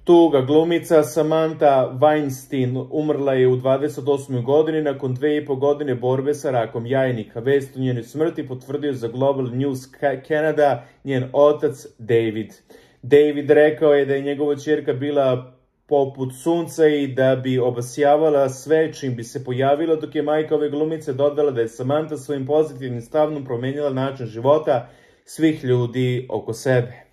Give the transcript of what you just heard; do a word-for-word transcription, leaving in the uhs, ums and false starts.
Tuga, glumica Samantha Weinstein umrla je u dvadeset osmoj godini nakon dve i po godine borbe sa rakom jajnika. Vest o njenoj smrti potvrdio za Global News Canada njen otac David. David rekao je da je njegova ćerka bila poput sunca i da bi obasjavala sve čim bi se pojavila, dok je majka ove glumice dodala da je Samantha svojim pozitivnim stavom promenila način života svih ljudi oko sebe.